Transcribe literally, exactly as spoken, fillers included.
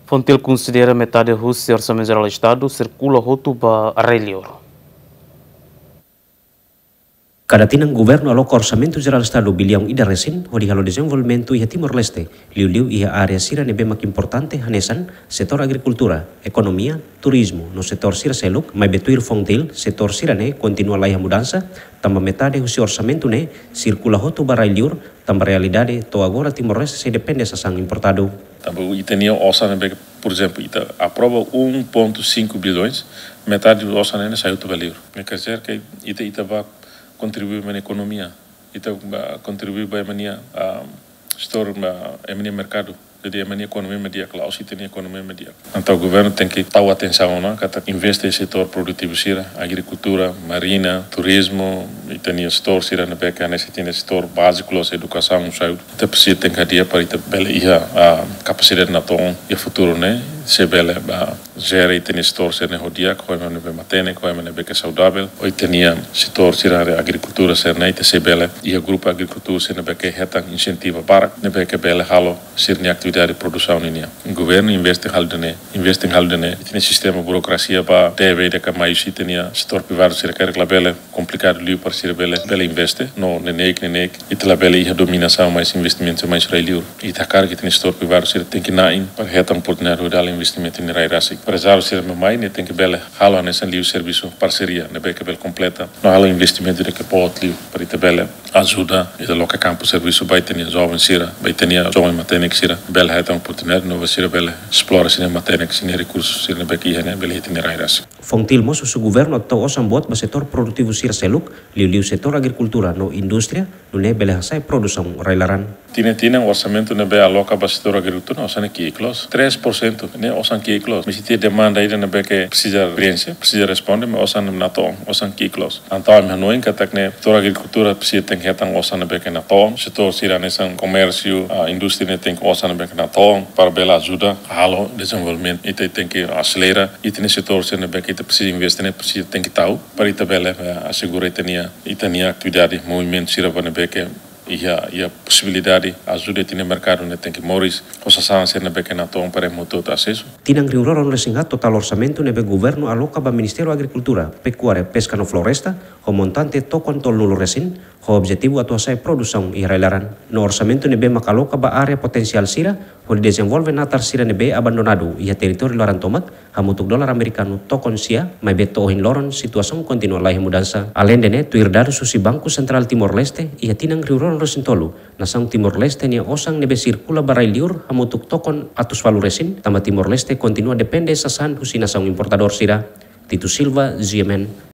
FONGTIL konsidera metade husi Orsamentu Jerál Estadu sirkula hotu ba rai-liur. Kada tinan governu aloka Orsamentu Jerál Estadu biliaun ida resin hodi halo dezenvolvimentu iha Timor-Leste, liuliu iha área sira ne'ebé mak importante hanesan setór agrikultura, ekonomia, turizmu no setór sira seluk, maibé tuir FONGTIL, setór sira-ne'e kontinua laiha mudansa, tanba metade husi orsamentu ne'e sirkula hotu ba rai-liur, tanba realidade to'o agora Timor-Leste sei depende sasán importadu. Tanba ita-nia osan ne'ebé, por ezemplu, ita aprova um ponto cinco bilhões, metade osan ne'e sai hotu ba liur. Ne'e quer dizer que ita, ita bá kontribui ba ema nia ekonomia, ita bá kontribui ba ema nia, ah, setór, ba ema nia merkadu. Jadi ema nia ekonomia mak di'ak, la'ós ita-nia ekonomia mak di'ak. Entaun governu tenke tau atensaun ona, katak investe iha setór produtivu sira, agrikultura, marina, turizmu, ita-nia setór sira ne'ebé ke hanesan ita-nia setór báziku, loos edukasaun, saúde. Ita presiza tenke hadi'a para ita bele iha, ah, kapasidade natoon iha futuru ne'e, sei bele, ah, jere ita-nia setór sira-ne'e ho di'ak, ho ema ne'ebé matenek, ho ema ne'ebé ke saudavel, ho ita-nia setór sira agrikultura sira-ne'e, ita sei bele iha grupu agrikultura sira ne'ebé ke hetan insentiva barak, ne'ebé ke bele halo sira-nia atividade produsaun ninian. Governu investe halo ida-ne'e, investe halo ida-ne'e. Ita-nia sistema burokrasia bá tebe ida ka mai husi ita-nia setór privadu sira karik labele, komplikadu liu para sira bele, bele investe. No neineik, neineik ita labele iha dominasaun, mais investimentu mais rai-liur. Ita hakarak ita-nia setór privadu sira tenke na'in para hetan oportunidade hodi halo investimentu iha rai rasik. Emprezáriu sira ne'ebé mai ne'e tenke bele halo hanesan liu servisu parseria ne'ebé ke bele kompleta no halo investimentu ida ke boot liu para ita bele ajuda ita loke kampu servisu ba ita-nia joven sira, ba ita-nia joven matenek sira, bele hetan oportunidade no ba sira bele esplora sira-nia matenek, sira-nia rekursu sira ne'ebé ke iha ne'e bele iha ita-nia rai rasik. FONGTIL mós husu governu atu tau osan boot ba setór produtivu sira seluk, liuliu setór agrikultura no indústria, nune'e bele hasa'e produsaun rai-laran. Tinan-tinan orsamentu ne'ebé aloka ba setór agrikultura ne'e osan ne'e ki'ik loos. Três por cento ne'e osan ki'ik loos. Mas ita iha demanda ida ne'ebé ke presiza prienxe, presiza responde, mas osan ne'e natoon, osan ki'ik loos. Entaun ami hanoin katak ne'e setór agrikultura presiza tenke hetan osan ne'ebé ke natoon. Setór sira hanesan komérsiu, ah, indústria ne'e tenke osan ne'ebé ke natoon para bele ajuda halo dezenvolvimentu. Ita tenke aselera, ita-nia setór sira ne'ebé ke ita presiza investe ne'e presiza tenke tau para ita bele, eh, asegura ita-nia, ita-nia atividade, movimentu sira ba ne'ebé ke iha, iha posibilidade ajuda ita-nia merkadu ne'e tenke moris, ho sasán sira ne'ebé ke natoon para ema hotu asesu. Tinan rihun rua ruanulu resin haat totál orsamentu ne'ebé governu aloka ba Ministériu Agrikultura, Pekuária, Peska no Floresta, ho montante tokon tolunulu resin, ho objetivu atu hasa'e produsaun iha rai-laran. No orsamentu ne'ebé mak aloka ba área potensiál sira, hodi dezenvolve natar sira ne'ebé abandonadu iha territóriu laran tomak, hamutuk dolar amerikanu tokon sia, maibé to'o ohin loron situasaun kontinua laiha mudansa. Aleinde ne'e, tuir dadus husi Banku Sentrál Timor-Leste, iha tinan rihun rua ruanulu resin tolu, nasaun Timor-Leste nia osan ne'ebé sirkula ba rai-liur hamutuk tokon atus ualu resin, tanba Timor-Leste kontinua depende sasán husi nasaun importadór sira. Tito Silva, G M N,